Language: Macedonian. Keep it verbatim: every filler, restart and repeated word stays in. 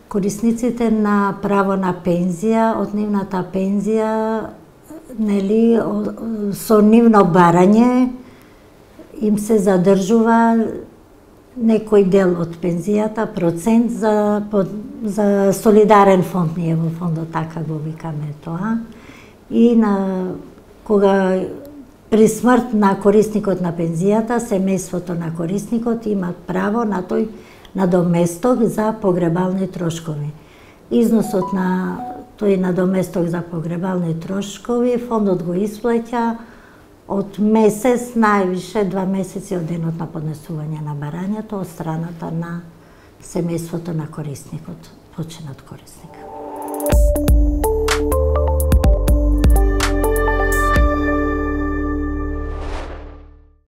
корисниците на право на пензија, од нивната пензија, нели, со нивно барање им се задржува некој дел од пензијата, процент за, за солидарен фонд, ние во фондот така го викаме тоа. И на, кога при смрт на корисникот на пензијата, семејството на корисникот имат право на тој надоместок за погребални трошкови. Износот на тој надоместок за погребални трошкови фондот го исплаќа од месец, највише два месеци од денот на поднесување на барањето од страната на семејството на корисникот, починат корисник.